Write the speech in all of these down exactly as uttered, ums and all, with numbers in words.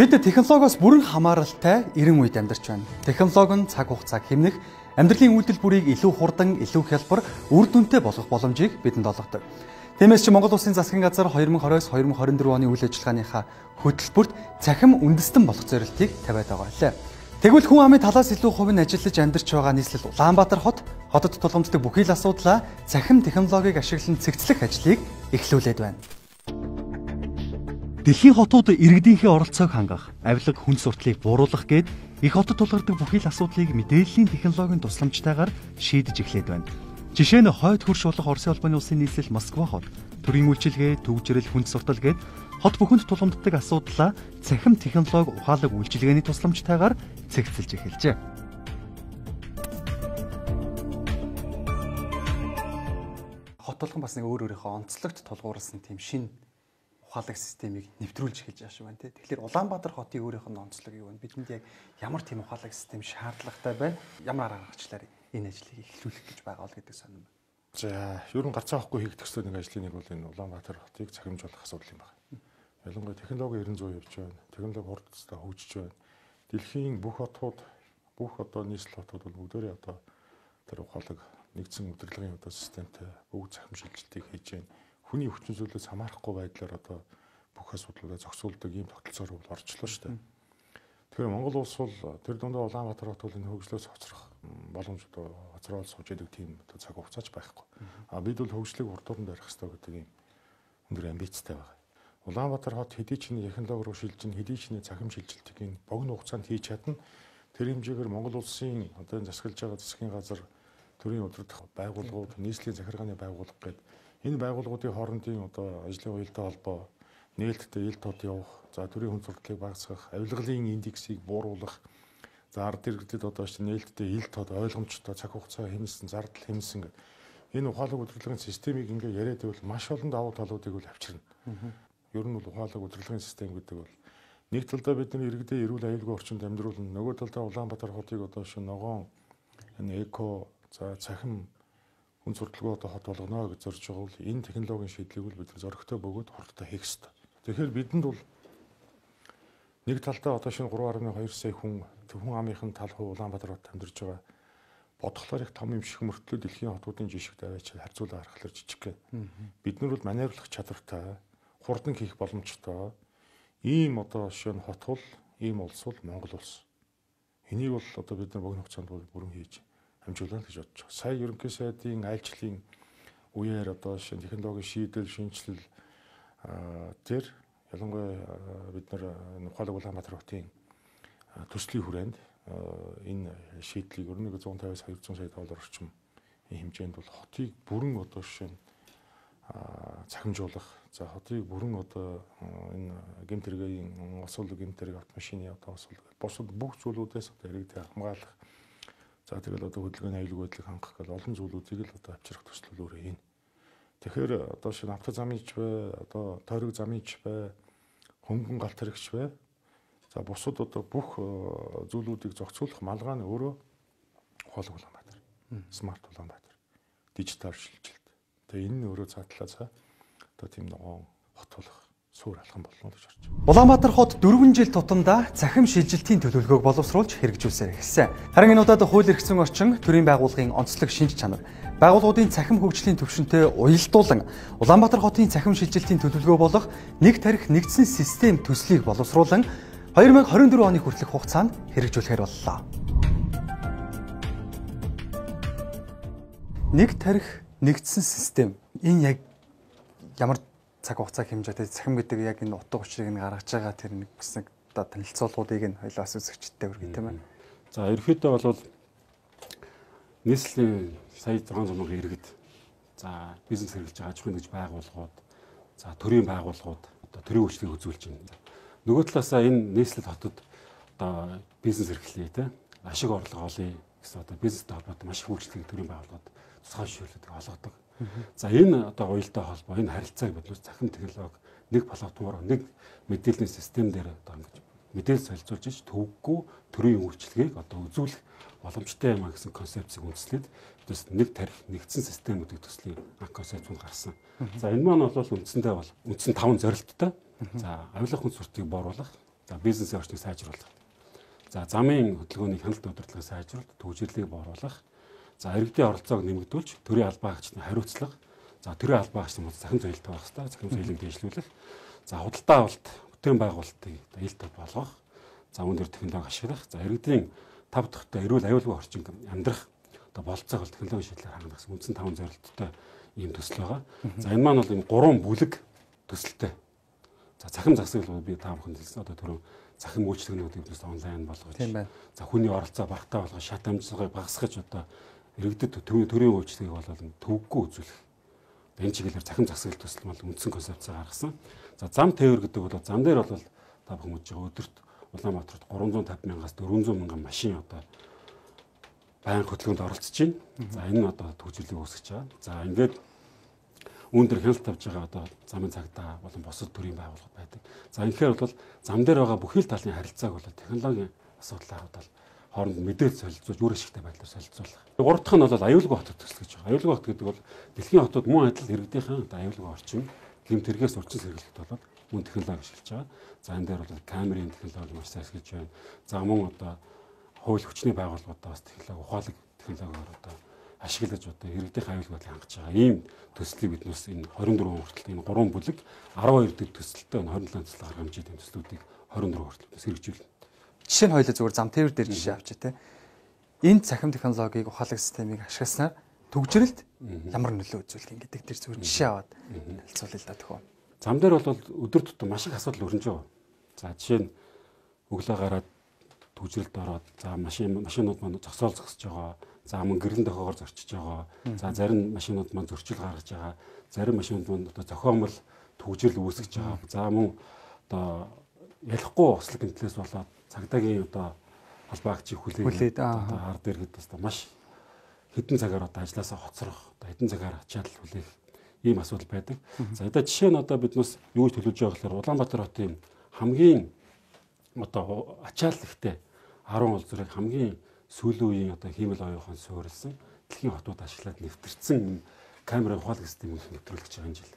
Бид технологиос бүрэн хамааралтай эрен үед амьдарч байна. Технологи нь цаг хугацааг хэмнэх, амьдралын үйлдэл бүрийг илүү хурдан, илүү хялбар, үр дүнтэй болгох боломжийг бидэнд олгодог. Тиймээс ч Монгол Улсын засгийн газар две тысячи двадцать-две тысячи двадцать четыре оны үйл ажиллагааныхаа хөтөлбөрт цахим үндэстэн болох зорилтыг тавиад байгаа лээ. Тэгвэл хүн амын талаас илүү хувь нь ажиллаж амьдарч байгаа нийслэл Улаанбаатар хот хотод тулгамддаг бүхий л асуудлаа цахим технологиг ашиглан цэгцлэх ажлыг эхлүүлээд байна. Дэлхийн хотууд иргэдийнхээ оролцоог хангах, авилга хүн суртлыг бууруулах гээд их хотод тулгардаг бүхий л асуудлыг мэдээллийн технологийн тусламжтайгаар шийдэж эхлээд байна. Жишээ нь хойд хөрш болох Оросын улбаны улсын нийслэл Москва хот, төрийн үйлчилгээ, төвжирэл, хүнд суртал гээд хот бүхэнд тулгамддаг асуудлаа цахим технологи ухаалаг үйлчилгээний тусламжтайгаар цэгцэлж эхэлжээ. Хот толгон бас нэг өөр өөрийнхөө онцлогт тулгуурласан тийм шин ухаалаг системийг нэвтрүүлж эхэлж байгаа шүү байна тий. Тэгэхээр Улаанбаатар хотын өөрийнх нь онцлог юу вэ? Бидэнд яг ямар тийм ухаалаг систем шаардлагатай байна? Ямар арга гаргачлаар энэ ажлыг эхлүүлэх гэж байгаа л гэдэг сонирм байна. За, ер нь гарцаа авахгүй хийх төстэй нэг ажлын нэг бол энэ Улаанбаатар хотыг цахимжуулах асуудал юм байна. Ялангуяа технологи ерэн зүй явж байна. Технологи хурдтай хөгжиж байна. Дэлхийн бүх хотууд, бүх одоо нийслэл хотууд бол бүгдээрээ одоо тэр ухаалаг нэгдсэн удирдлагын одоо системтэй бүгд цахим шилжилтийг хийж байна. Хүний хүчин зүйлээс хамаарахгүй байдлаар одоо бүх асуудлуудаа зохицуулдаг ийм тогтолцоор бол орчлоо шүү дээ. Тэгэхээр Монгол улс бол тэр дундаа Улаанбаатар хот бол энэ хөгжлөөс хоцрох боломж одоо хоцроод сууж идэг тийм одоо цаг хугацаач байхгүй. А бид бол хөгжлийг урдууранд барих хэрэгтэй гэдэг ийм өндөр амбицтай байгаа. Улаанбаатар хот хэдий ч нэг технологи руу шилжин, хэдий ч нэг цахим шилжилтийг богино хугацаанд хийж чадна. Тэр хэмжээгээр Монгол улсын одоо энэ засаглаж байгаа засгийн газар, төрийн удирдах байгууллагууд, нийслэлийн захиргааны байгууллага гэдэг энэ байгууллагуудын хоорондын одоо ажлын уялдаа холбоо, нээлттэй ил тод явах, за төрийн хүн сурталчилгааг багасгах, авилгалын индексийг бууруулах, за ард иргэдэд одоо ч нээлттэй ил тод ойлгомжтой цаг хугацаа хэмнэсэн, зардал хэмнэсэн гэдэг энэ ухаалаг удирдлагын системийг ингээ яриад байвал маш олон давуу талуудыг бол авчирна. Ер нь бол ухаалаг удирдлагын систем гэдэг бол нэг талдаа бидний иргэдээ эрүүл аюулгүй орчинд амьдруулна, нөгөө талдаа Улаанбаатар хотыг одоо шин ногоон энэ эко, за цахим хүн сурталчилгаа одоо хот болгоно гэж зорж байгаа бол энэ технологийн шийдлийг бол бид нар зөрөгтэй бөгөөд хурдтай хийх ёстой. Тэгэхээр бидэнд бол нэг талдаа одоо шинэ three point two сая хүн хүн амынхын тал хувь Улаанбаатар хотод амьдарч байгаа. Бодглоор их том юм шиг мөртлөө дэлхийн хотуудын жишг даваач харьцуулаад харахаар жижиг гэн. Бид нар бол маневрлах чадвартай, хурдан хийх боломжтой ийм одоо шинэ хот бол ийм улс бол Монгол улс. Энийг бол одоо бид нар богино хугацаанд бол бүрэн хийж амжуулна гэж бодож байгаа. Сая ерөнхий сайдын айлчлалын үеэр одоо шинэ технологийн шийдэл, шинжилэл тэр ялангуяа бид нар ухаалаг Улаанбаатар хотын төслийн хүрээнд энэ шийдлийг ер нь one fifty-аас two hundred сая доллар орчим хэмжээнд бол хотыг бүрэн одоо шинэ цахимжуулах, за хотыг бүрэн одоо энэ гэмт хэргийн освол гэмт хэрэг автомашины одоо освол бусад бүх зүйлүүдээс одоо иргэдэд хамгаалах, за тэгэл одоо хөдөлгөөний аюулгүй байдлыг хангах гэл олон зүйлүүдийг л одоо авчрах төслөл өөрөө энэ. Тэгэхээр одоо шинэ авто замынч бай, одоо тойрог замынч бай, хөнгөн галт хэрэгч бай. За бусад одоо бүх зүйлүүдийг зохицуулах малгай нь өөрөө ухаалаг Улаанбаатар, смарт Улаанбаатар, дижитал шилжилт. Тэгээ энэ нь өөрөө цаатлаа цаа одоо тийм ногоон хот болох суур алхам болно гэж харж байна. Улаанбаатар хот дөрвөн жил тутамдаа цахим шилжилтийн төлөвлөгөөг боловсруулж хэрэгжүүлсээр эхэлсэн. Харин энэ удаад хууль эрхцэн орчин, төрийн байгууллагын онцлог шинж чанар, байгууллагуудын цахим хөгжлийн төвшөнтэй уялдуулан Улаанбаатар хотын цахим шилжилтийн төлөвлөгөө болох нэг тарих нэгдсэн систем төслийг боловсруулан две тысячи twenty-four оны хүртэлх хугацаанд хэрэгжүүлэхээр боллоо. Нэг тарих нэгдсэн систем энэ яг ямар цаг хугацаа хэмжээтэй цахим гэдэг яг энэ утга учирыг нь гаргаж байгаа тэр нэг гэсэн одоо танилцуулгуудыг нь хоёлаас үзэгчтэй хүргэх тийм ээ. За ерөөхдөө бол нийслэлийн сая six hundred мянган иргэд, за бизнес хэрэглэж байгаа аж ахуйн нэгж байгууллагууд, за төрийн байгууллагууд одоо төрийн үйлчлэгийг үзүүлж байна. Нөгөө талаасаа энэ нийслэл хотод одоо бизнес эрхлэе те ашиг орлого олъё гэсэн одоо бизнестэй холбоотой маш их үйлчлэгийг төрийн байгууллагууд тусгай шийдлүүдийг олгодог. За энэ одоо уялдаа холбоо, энэ харилцааг бид цахим технологи нэг платформоор нэг мэдээллийн систем дээр одоо ингэж мэдээлэл солилцуулж ич төвөггүй төрийн үйлчлэгийг одоо үзүүлэх боломжтой юм а гэсэн концепцийг үндэслээд бас нэг тарих нэгдсэн систем гэдэг төслийн концепцийг гаргасан. За энэ маань бол үндсэндээ бол үндсэн таван зорилттой. За авилга хүн суртыг бууруулах, За бизнесийн орчныг сайжруулах. За замын хөдөлгөөний хяналт удирдлагыг сайжруулах, төвжирлийг бууруулах. За иргэдийн оролцоог нэмэгдүүлж төрийн албаагчдын хариуцлага. За төрийн албаагчдын мод захин соёлтой байх хэрэгтэй. Захин соёлыг дэвшлүүлэх. За худалдаа авалт, бүтээн байгуулалтыг ил тод болгох. За үүн дээр технологи ашиглах. За иргэдийн тав дахьтай эрүүл аюулгүй орчин амьдрах одоо болцоог бол технологийн шийдлээр хангах гэсэн үндсэн таван зорилттой ийм төсөл байгаа. За энэ маань бол энэ гурван бүлэг төсөлтэй. За захин засаг бол би та бүхэнд хэлсэн одоо түрүү захин үйлчлэгнүүд үүднээс онлайн болгож. За хүний оролцоо багтаа болгож шат амжилтыг багасгаж одоо иргэдэд төрийн үйлчлэгийг бол төвөггүй үзүүлэх. Энэ чиглэлээр захин засаг төсөл бол үндсэн концепцээ гаргасан. За зам тээвэр гэдэг бол зам дээр бол та бүхэн мэдж байгаа өдөрт Улаанбаатарт гурван зуун тавин мянгаас дөрвөн зуун мянган машин одоо байнга хөдөлгөөнд оролцож байна. За энэ нь одоо төвчлийг үүсгэж байгаа. За ингээд үүн дээр хяналт тавьж байгаа одоо замын цагдаа болон бусад төрийн байгууллага байдаг. За инхээр бол зам дээр байгаа бүхий л талын харилцааг бол технологийн асуудлаар бол хооронд мэдээлэл солилцуулж үр ашигтай байдлаар солилцуулах. Гурав дахь нь бол аюулгүй хотод төсөл гэж байгаа. Аюулгүй хот гэдэг бол дэлхийн хотод мөн адил иргэдийнхэн одоо аюулгүй орчин гэмт хэрэгээс урьдчилан сэргийлэлт болоод мөн технологи ашиглаж байгаа. За энэ дээр бол камерын технологи маш сайн ашиглаж байна. За мөн одоо хууль хүчний байгууллагуудаа бас технологи ухаалаг технологиор одоо ашиглаж одоо иргэдийн аюулгүй байдлыг хангаж байгаа. Ийм төслийг биднээс энэ хорин дөрвөн хүртэл энэ гурван бүлэг арван хоёр дэд төсөлтөй энэ хорин төсөл гаргаж хэмжээд энэ төслүүдийг хорин дөрвөн хүртэл хэрэгжүүлнэ. Жишээ нь хоёлаа зүгээр зам тээвэр дээр жишээ авчи те. Энэ цахим технологиг ухаалаг системийг ашигласнаар төгжрэлд ямар нөлөө үзүүлэх юм гэдэг дээр зүгээр жишээ аваад хэлцүүлээ л да төхөө. Зам дээр бол өдөр тутам маш их асуудал өрнөж байгаа. За жишээ нь өглөө гараад төгжрэлд ороод за машин машинууд маань зогсоол зогсож байгаа. За мөн гэрлэн дохоогоор зорчиж байгаа. За зарим машинууд маань зөрчил гаргаж байгаа. Зарим машинууд маань одоо зохиомл төгжрэл үүсгэж байгаа. За мөн одоо ялахгүй ослог гэмтлээс болоод цагдаагийн одоо албаагчийг хүлээж одоо ард иргэд бас маш хэдэн цагаар одоо ажилласаа хоцрох, одоо хэдэн цагаар ачаал хүлээх ийм асуудал байдаг. За одоо жишээ нь одоо биднээс юу гэж төлөвлөж байгаа гэхээр Улаанбаатар хотын хамгийн одоо ачаал ихтэй арван улс зүрийг хамгийн сүүлийн үеийн одоо хиймэл оюухан суурилсан дэлхийн хотууд ашиглаад нэвтэрсэн камерын ухаалаг системийг нэвтрүүлж байгаа энэ жил.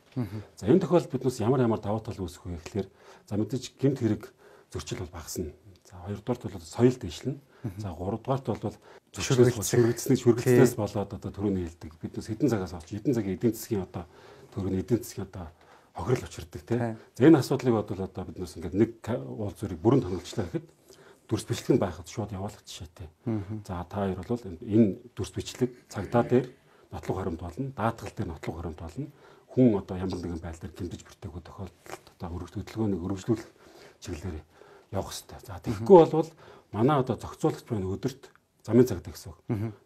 За энэ тохиолдолд биднээс ямар ямар давуу тал үүсэх вэ гэхээр за мэдээж гэмт хэрэг зөрчил бол багасна. За хоёрдугаарт бол соёл дэвшлэнэ. За гуравдугаарт бол зөвшөөрөгдсөнийг шүргэлтээс болоод одоо төрөний хэлдэг. Биднээс хэдэн цагаас авч хэдэн цагийн эдийн засгийн одоо төрөний эдийн засгийн одоо хохирол учирдаг тийм. За энэ асуудлыг бодвол одоо биднээс ингээд нэг уул зүрийг бүрэн тоногчлаа гэхэд дүрс бичлэг нь байхад шууд явуулах жишээтэй. За та хоёр бол энэ дүрс бичлэг цагдаа дээр нотлох хоримт болно, даатгал дээр нотлох хоримт болно. Хүн одоо ямар нэгэн байдлаар гэмтэж бүртээгүй тохиолдолд одоо хөдөлгөөнийг өргөжлүүлэх чиглэлээр явах хэрэгтэй. За тэгэхгүй болвол манай одоо зохицуулагч байна өдөрт замын цагдаа гэсэн үг.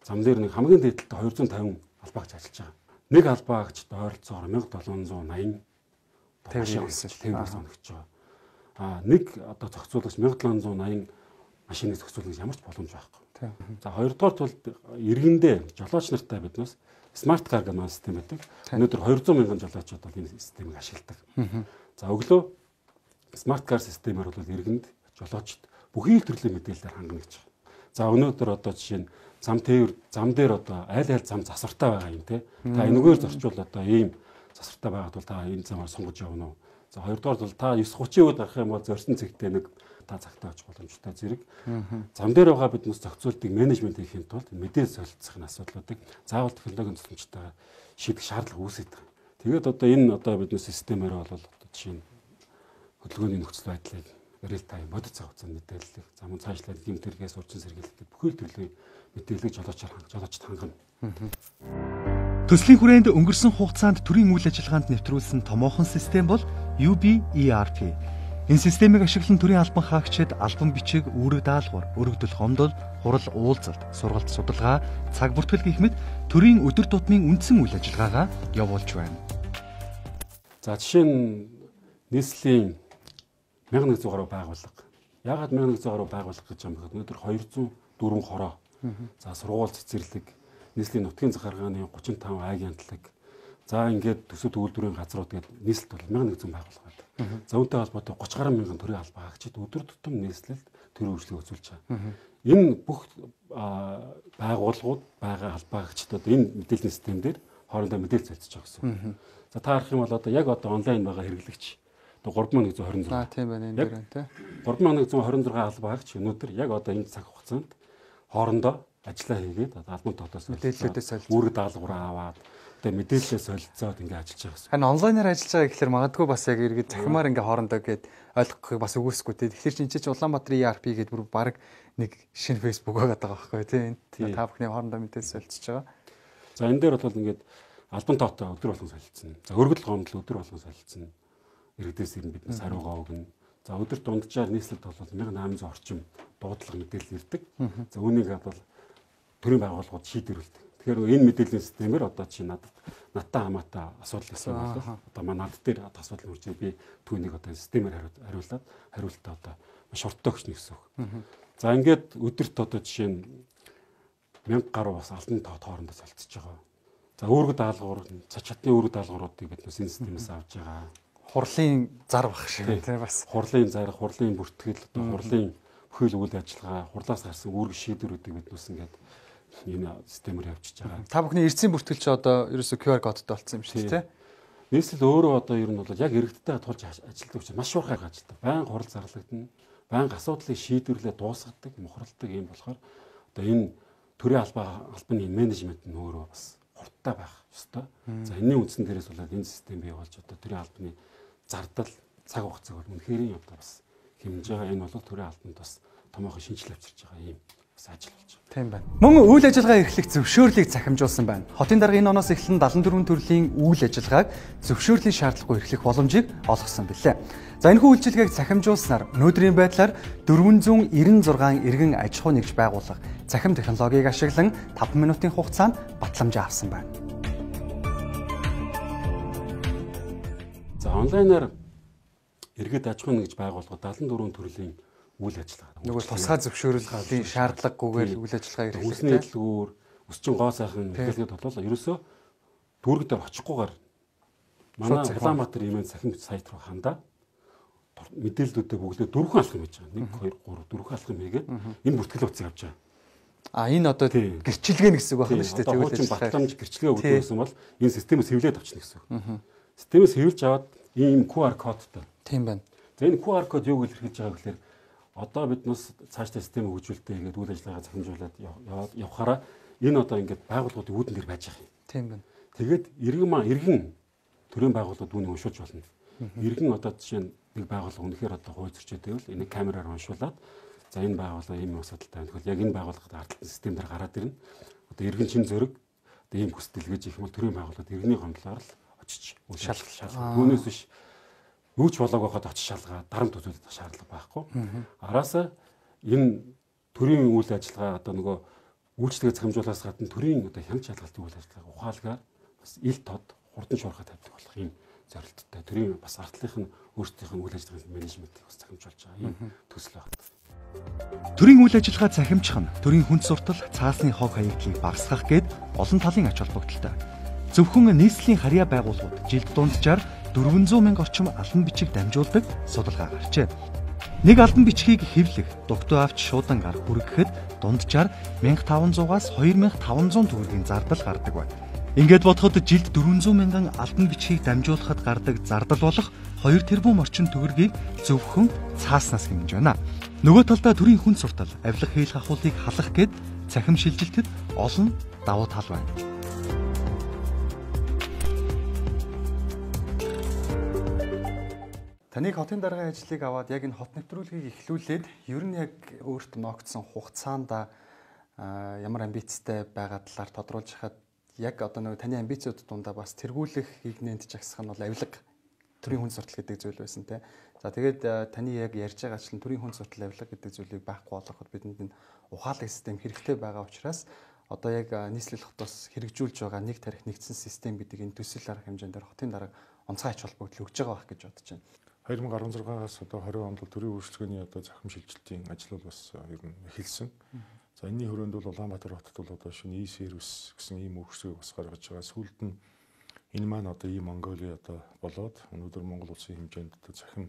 Зам дээр нэг хамгийн дээдэлтэй хоёр зуун тавин албаагч ажиллаж байгаа. Нэг албаагчд ойролцоогоор мянга долоон зуун наян тээвэр тээвэр соногч байгаа. Аа нэг одоо зохицуулагч мянга долоон зуун наян машиныг зохицуулах ямар ч боломж байхгүй. За хоёрдугаарт бол иргэндээ жолооч нартай биднээс смарт кар гэмээр систем байдаг. Өнөөдөр хоёр зуун мянган жолоочд бол энэ системийг ашигладаг. За өглөө смарт кар системээр бол иргэнд жолоочд бүхий л төрлийн мэдээлэлээр хангана гэж байна. За өнөөдөр одоо жишээ нь зам тээвэр зам дээр одоо айл айл зам засвартай байгаа юм те. Та энэгээр зорчвол одоо ийм засвартай байгаад бол та энэ замаар сонгож явна уу? За хоёрдугаар бол та девять тридцать үед гарах юм бол зорьсон цэгтээ нэг та цагтаа очих боломжтой зэрэг. Зам дээр байгаа биднээс зохицуултыг менежмент хийхин тулд мэдээлэл солилцох нь асуудлуудыг заавал технологийн тусламжтайгаар шийдэх шаардлага үүсэж байгаа. Тэгээд одоо энэ одоо биднээс системээр бол одоо жишээ нь хөдөлгөөний нөхцөл байдлыг реал тайм бодит цаг хугацаанд мэдээллийг замун цаашлаад гэмт хэрэгээс урьдчилан сэргийлэлт бүхий л төрлийн мэдээллийг жолоочоор хангаж жолоочд хангана. Төслийн хүрээнд өнгөрсөн хугацаанд төрийн үйл ажиллагаанд нэвтрүүлсэн томоохон систем бол ю би и ар пи. Энэ системийг ашиглан төрийн албан хаагчид албан бичиг, үүрэг даалгавар, өргөдөл хомдол, хурал уулзалт, сургалт судалгаа, цаг бүртгэл гэх мэт төрийн өдөр тутмын үндсэн үйл ажиллагаагаа явуулж байна. За жишээ нь нийслэлийн мянга нэгдүгээр гаруй байгууллага. Яагаад мянга нэгдүгээр гаруй байгууллага гэж юм бэ? Өнөөдөр хоёр зуун дөрвөн хороо. За сургууль цэцэрлэг, нийслэлийн нутгийн захиргааны гучин таван аягийн хамтлаг. За ингээд төсөв төгөлдрийн газрууд гээд нийслэлд бол мянга нэгдүгээр байгууллага байдаг. За үүнтэй холбоотой гуравч гаруй мянган төрийн албан хаагчид өдөр тутам нийслэлд төрийн үйлчлэг үзүүлж байгаа. Энэ бүх байгууллагууд байгаа албан хаагчдад энэ мэдээллийн систем дээр хоорондоо мэдээлэл солилцож байгаа гэсэн. За та харах юм бол одоо яг одоо онлайн байгаа хэрэглэгч Одоо гурван мянган нэгэн хорин зураг. Аа тийм байна энэ дээр тий. гурван мянган нэгэн хорин зураг албаагч өнөөдөр яг одоо энэ цаг хугацаанд хоорондоо ажиллаа хийгээд одоо албан тотоос мэдээллүүдээ солилцоо. үүрэг даалгавраа аваад одоо мэдээлэлээ солилцоод ингээд ажиллаж байгаа гэсэн. Харин онлайнаар ажиллаж байгаа гэхэлэр магадгүй бас яг иргэд захимаар ингээ хоорондоо гээд ойлгохыг бас үгүйсэхгүй тий. Тэгэхээр чинь чи Улаанбаатарын и ар пи гэдэг бүр баг нэг шинэ фейсбુક байгаа байхгүй тий. Та бүхний хоорондоо мэдээлэл солилцож байгаа. За энэ дээр бол ингээд албан тоотой өдөр болгон солилцсон. За өргөдөл гомдол өдөр болгон солилцсон. Иргэдээс ирнэ биднээс хариугаа өгнө. За өдөрт дунджаар нийслэлд бол нэг мянган восемьдесят орчим дуудлага мэдээлэл ирдэг. За үүнийг бол төрийн байгууллагууд шийдвэрлэдэг. Тэгэхээр энэ мэдээллийн системээр одоо чи надад надтай хамаатай асуудал гэсэн бол одоо манай над дээр асуудал үржээ би түүнийг одоо системээр хариулаад хариултаа одоо маш хурдтай өгч нэгсэн үг. За ингээд өдөрт одоо жишээ нь мянга гаруй бас албан тоо хоорондоо солилцож байгаа. За үүрэг даалгавар, цач чатны үүрэг даалгавруудыг бид энэ системээс авч байгаа. Хурлын зар баг шиг тий бас. Хурлын зар, хурлын бүртгэл, одоо хурлын бүхэл үйл ажиллагаа, хурлаас гарсан үүрэг шийдвэрүүдийг бид нүс ингээд энэ системээр явуулчихж байгаа. Та бүхний эрдэсийн бүртгэл чи одоо ерөөсөө ку ар кодтой болсон юм шиг тий. Нийслэл өөрөө одоо ер нь бол яг иргэдтэй тулж ажилладаг учраас маш уурхай ажилладаг. Байнга хурал зарлагдана. Байнга асуудлыг шийдвэрлээ дуусгадаг, мухарладаг юм болохоор одоо энэ төрийн албаа албаны менежмент нь өөрөө бас хурдтай байх ёстой. За энэний үндсэн дээрээс болоод энэ систем бий болж одоо төрийн албаны зардал цаг хугацааг бол үнэхээр одоо бас хэмжиж байгаа. Энэ бол төрийн албанд бас томоохон шинжилгээ авчирч байгаа юм бас ажил болж байна. Тийм байна. Мөн үйл ажиллагаа эрхлэх зөвшөөрлийг захимжуулсан байна. Хотын дарга энэ оноос эхлэн дадлан дөрвөн төрлийн үйл ажиллагааг зөвшөөрлийн шаардлагагүй эрхлэх боломжийг олгосон билээ. За энэхүү үйлчилгээг захимжуулснаар өнөөдрийн байдлаар дөрвөн зуун девяносто шесть иргэн аж ахуй нэгж байгууллага захим технологиг ашиглан таван минутын хугацаанд батламжаа авсан байна. За онлайнаар иргэд аж ахуй нэгж байгууллага дадлан дөрвөн төрлийн үйл ажиллагаа. Нөгөө тусгай зөвшөөрлийн шаардлагагүйгээр үйл ажиллагаа эрхлэх. Үсний эдлгүүр, өсчин гоо сайхан хэлгээд болоо ерөөсөө дүүрэг дээр очихгүйгээр манай Улаанбаатар имэн захин сайт руу хандаад мэдээллүүдээ бүгдээ дөрвөн алхам хийж байгаа. нэг хоёр гурав дөрвөн алхам хийгээд энэ бүртгэл утсыг авч байгаа. А энэ одоо гэрчилгээ нэг хэсэг байна шүү дээ. Тэгвэл чинь батламж гэрчилгээ өгдөөсөн бол энэ системээс хэвлээд авчихна гэсэн үг. Системээс хэвлж аваад ийм ку ар кодтой. Тийм байна. За энэ ку ар код юуг илэрхийлж байгаа гэхээр одоо биднээс цаашдаа систем хөгжүүлэлтээ хийгээд үйл ажиллагаа захимжуулаад яваад явхаараа энэ одоо ингээд байгууллагуудын үүдэн дээр байж байгаа юм. Тийм байна. Тэгээд иргэн маа иргэн төрийн байгууллагууд үүнийг уншуулж болно. Иргэн одоо жишээ нь нэг байгууллага үнэхээр одоо хууль зөрчилтэй бол энийг камераар уншуулад за энэ байгууллага ийм асуудалтай байна. Тэгвэл яг энэ байгууллагад ардталт систем дээр гараад ирнэ. Одоо иргэн чин зөрөг одоо ийм хүсэл гэж их юм бол төрийн байгууллагад иргэний гомдлоор л очиж шалгах шалгах. Түүнээс биш юу ч болоог байхад очиж шалгаа дарамт үзүүлэх шаардлага байхгүй. Араасаа энэ төрийн үйл ажиллагаа одоо нөгөө үйлчлэгээ захимжуулахаас гадна төрийн одоо хяналт шалгалтын үйл ажиллагаа ухаалгаар бас ил тод хурдан шуурхай тавьдаг болох юм зорилттой төрийн бас ардлынх нь өөрсдийнх нь үйл ажиллагааны менежментийг бас захимжуулж байгаа юм төсөл байна. Төрийн үйл ажиллагаа захимжих нь төрийн хүнд суртал, цаасны хог хаягдлыг багасгах гээд олон талын ач холбогдолтой. Зөвхөн нийслэлийн харьяа байгууллагууд жилд дунджаар дөрвөн зуун мянга орчим албан бичиг дамжуулдаг судалгаа гарчээ. Нэг албан бичгийг хэвлэх, дугтуй авч шуудан гар хүргэхэд дунджаар мянга таван зуугаас хоёр мянга таван зуун төгрөгийн зардал гардаг байна. Ингээд бодоход жилд дөрвөн зуун мянган албан бичгийг дамжуулахад гардаг зардал болох хоёр тэрбум орчим төгрөгийг зөвхөн цааснаас хэмнэж байна. Нөгөө талдаа төрийн хүнд суртал, авилга хийх ахуулыг халах гээд цахим шилжилтэд олон давуу тал байна. Таныг хотын даргын ажлыг аваад яг энэ хот нэвтрүүлгийг эхлүүлээд ер нь яг өөрт ногдсон хугацаанд ямар амбицтай байгаа талаар тодруулж хахад яг одоо нөгөө таны амбицууд дундаа бас тэргүүлэх хигнэнд жагсах нь бол авилга төрийн хүнд суртал гэдэг зүйл байсан те. За тэгээд таны яг ярьж байгаачлан төрийн хүнд суртал авилга гэдэг зүйлийг байхгүй болгоход бидэнд энэ ухаалаг систем хэрэгтэй байгаа учраас одоо яг нийслэл хотоос хэрэгжүүлж байгаа нэг тарих нэгдсэн систем гэдэг энэ төсөл арга хэмжээндээр хотын дарга онцгой ач холбогдол өгж байгаа байх гэж бодож байна. две тысячи он шестнадцаас одоо двадцать онд бол төрийн үйлчлэгээний одоо захим шилжилтийн ажил бол бас ер нь эхэлсэн. За энэний хүрээнд бол Улаанбаатар хотод бол одоо шинэ e-сервис гэсэн ийм өгсөгийг бас гаргаж байгаа. Сүүлд нь энэ маань одоо ийм Монголи одоо болоод өнөөдөр Монгол улсын хэмжээнд одоо захим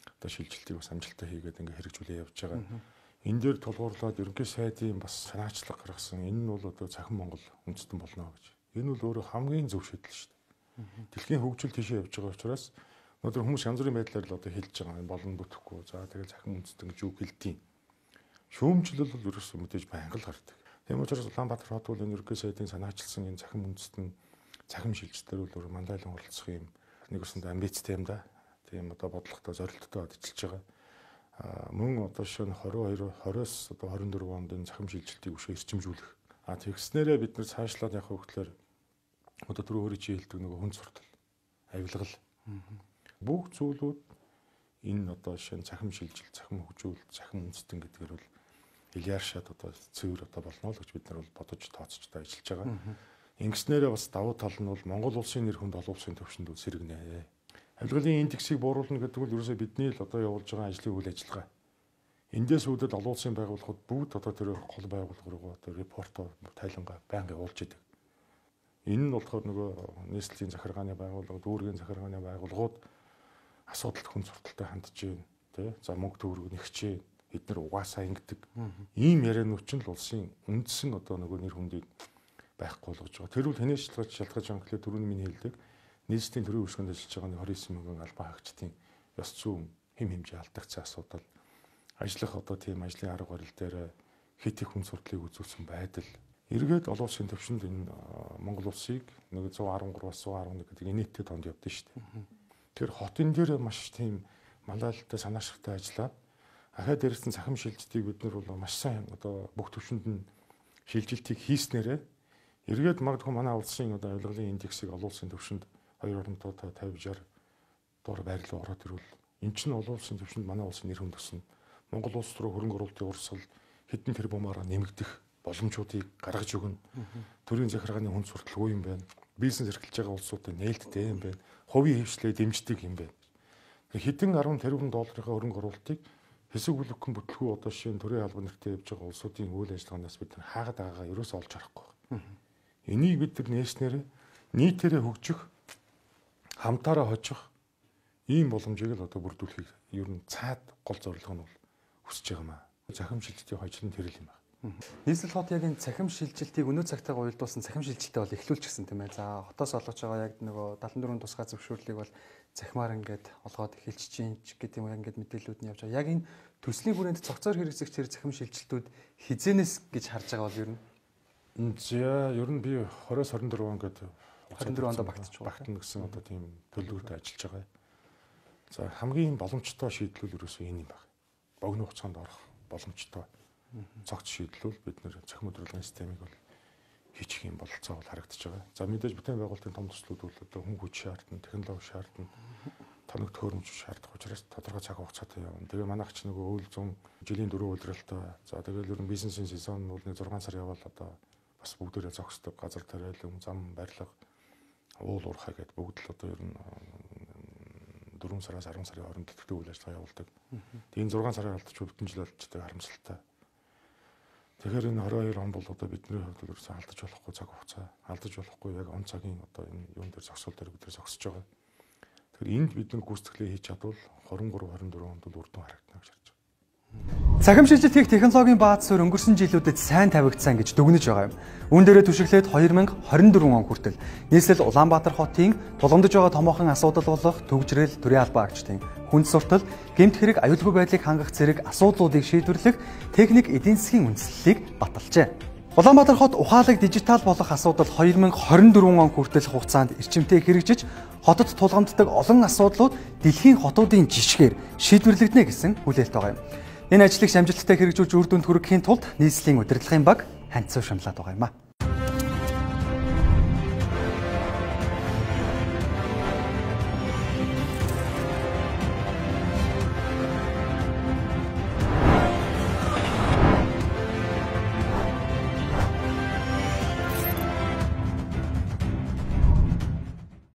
одоо шилжилтийг бас амжилттай хийгээд ингээ хэрэгжүүлээ явж байгаа. Энэ дээр тулгуурлаад ерөнхий сайдын бас санаачлаг гаргасан. Энэ нь бол одоо захим Монгол үндэстэн болно гэж. Энэ бол өөрөө хамгийн зөв шийдэл шүү дээ. Дэлхийн хөгжил тийшээ явж байгаа учраас Өнөөдөр хүмүүс янз бүрийн байдлаар л одоо хэлж байгаа болон бүтэхгүй. За тэгэл захин үндэстэн гэж үг хэлтiin. Шүүмжлэл бол ерөөсөө мэдээж байнга л гардаг. Тийм учраас Улаанбаатар хот бол энэ ерөнхий сайдын санаачилсан энэ захин үндэстэн захин шилжилтээр бол мандайлан оролцох юм нэг өсөнд амбицтай юм да. Тийм одоо бодлоготой зорилттой ажиллаж байгаа. А мөн одоо шөнө двадцать two двадцать-оос одоо двадцать four онд энэ захин шилжилтийг өшөө эрчимжүүлэх. А тэгснээрээ бид нэр цаашлаад явах хөвгтлэр одоо түрүү өөрөө чи хэлдэг нөгөө хүн суртал, авилгал. Бүх зүйлүүд энэ одоо шин захин шилжилт, захин хөгжүүлэлт, захин үндэстэн гэдгээр бол Ильяар шат одоо цэвэр одоо болно л гэж бид нар бол бодож тооцож та ажиллаж байгаа. Ингэснээрээ бас давуу тал нь бол Монгол улсын нэр хүнд олон улсын төвшөнд сэргэнэ. Авилгалын индексийг бууруулна гэдэг нь ерөөсөө бидний л одоо явуулж байгаа ажлын үйл ажиллагаа. Эндээс үүдэл олон улсын байгууллагууд бүгд одоо тэр гол байгууллага руу одоо репортоо тайлангаа байнга явуулж идэг. Энэ нь болохоор нөгөө нийслэлийн захиргааны байгууллага, дүүргийн захиргааны байгууллагууд асуудалд хүн сурталтай хандж байна. Тэ? За мөнгө төгрөг нэгч байна. Бид нар угаасаа ингэдэг. Ийм ярианууд ч л улсын үндсэн одоо нөгөө нэр хүндийг байхгүй болгож байгаа. Тэр бол хэнээс шалтгаалж шалтгаалж байгаа гэхлээр түрүүний миний хэлдэг нийслэлийн төрийн үйлчлэгэнд ажиллаж байгаа двадцать девять мянган албан хаагчдын ёс зүйн хэм хэмжээ алдагдсан асуудал, ажиллах одоо тийм ажлын арга барил дээр хит их хүн сурдлыг үзүүлсэн байдал эргээд олон улсын төвшөнд энэ Монгол улсыг нэг one thirteen-аас one eleven гэдэг инээдтэй тонд явдсан шүү дээ. Тэр хотын дээр маш тийм малайлалтай санаашигтай ажиллаад ахаа дээрээс нь захим шилжилтийг бид нар бол маш сайн одоо бүх төвшөнд нь шилжилтийг хийснээрээ эргээд магадгүй манай улсын одоо авилгалын индексийг олон улсын төвшөнд two fifty sixty дор байрлал ороод ирвэл эн чинь олон улсын төвшөнд манай улсын нэр хүнд өснө. Монгол улс руу хөрөнгө оруулалтын урсгал хэдэн тэрбумаараа нэмэгдэх боломжуудыг гаргаж өгнө. Төрийн захиргааны хүн сурталгүй юм байна. Бизнес эрхэлж байгаа улсуудад нээлттэй юм байна. Хувийн хвшлээ дэмждэг юм байна. Хэдэн ten тэрбум долларын хөрөнгө оруулалтыг хэсэг бүлэгхэн бүтлгүй одоо шинэ төрийн албан нэртэй явж байгаа улсуудын үйл ажиллагаанаас бид хаагаад байгаагаа ерөөсөө олж харахгүй. Энийг бид нар нээснээр нийтээрээ хөгжих, хамтаараа хожих ийм боломжийг л одоо бүрдүүлэхийг ер нь цаад гол зорилго нь бол хүсэж байгаа маа. Захим шилжилтийн хожлын тэрэл юм байна. Нийслэл хот яг энэ цахим шилжилтийг өнөө цагтайгаа уялдуулсан цахим шилжилтээ бол эхлүүлчихсэн тийм ээ. За хотоос олгож байгаа яг нөгөө seventy four тусгай зөвшөөрлийг бол захимаар ингээд олгоод эхэлж чинь гэдэг юм ингээд мэдээлэлүүд нь явж байгаа. Яг энэ төслийн хүрээнд цогцоор хэрэгжих тэр захим шилжилтүүд хизэнээс гэж харж байгаа бол ер нь За ер нь би twenty-оос twenty-four он гэдэг twenty four онд багтаж байгаа. Багтна гэсэн одоо тийм төлөвлөгөөтэй ажиллаж байгаа. За хамгийн боломжтой шийдлүүл ерөөсөө энэ юм байна. Богино хугацаанд орох боломжтой цогц шийдлүүл бид нэр цахим өдрөлгөөний системийг бол хийчих юм бололцоо бол харагдаж байгаа. За мэдээж бүтээн байгуулалтын том төслүүд бол одоо хүн хүч шаардна, технологи шаардна, тоног төхөөрөмж шаардах учраас тодорхой цаг хугацаатай явна. Тэгээ манайх ч нөгөө үйл зам жилийн дөрөв удиралтай. За тэгэл ер нь бизнесийн сезон бол нэг six сар явал одоо бас бүгдээрээ зогсдог газар тариалан зам барилга уул уурхай гэдээ бүгд л одоо ер нь four сараас ten сарын хооронд төтгөө үйл ажиллагаа явуулдаг. Тэгээ энэ six сарын алдчих бүтэн жил алдчихдаг харамсалтай. Тэгэхээр энэ twenty-two он бол одоо бидний хувьд ерөөсөө алдаж болохгүй цаг хугацаа, алдаж болохгүй яг он цагийн одоо энэ юун дээр зогсоол дээр бид нэр зогсож байгаа. Тэгэхээр энд бид нар гүйцэтгэлээ хийж чадвал twenty-three twenty-four онд бол үр дүн харагдана гэж харж байна. Цахим шилжилт хийх технологийн бааз суурь өнгөрсөн жилүүдэд сайн тавигдсан гэж дүгнэж байгаа юм. Үүн дээрээ түшиглээд twenty twenty-four он хүртэл нийслэл Улаанбаатар хотын тулгамдж байгаа томоохон асуудал болох төгжрэл, төрийн албан агчдын хүнд суртал, гэмт хэрэг, аюулгүй байдлыг хангах зэрэг асуудлуудыг шийдвэрлэх техник эдийн засгийн үндэслэлийг баталжээ. Улаанбаатар хот ухаалаг дижитал болох асуудал twenty twenty-four он хүртэл хугацаанд эрчимтэй хэрэгжиж хотод тулгамддаг олон асуудлууд дэлхийн хотуудын жишгээр шийдвэрлэгдэнэ гэсэн хүлээлт байгаа юм. Энэ ажлыг амжилттай хэрэгжүүлж үр дүнд хүрэхийн тулд нийслэлийн удирдлагын баг ханцуу шаналаад байгаа юм а.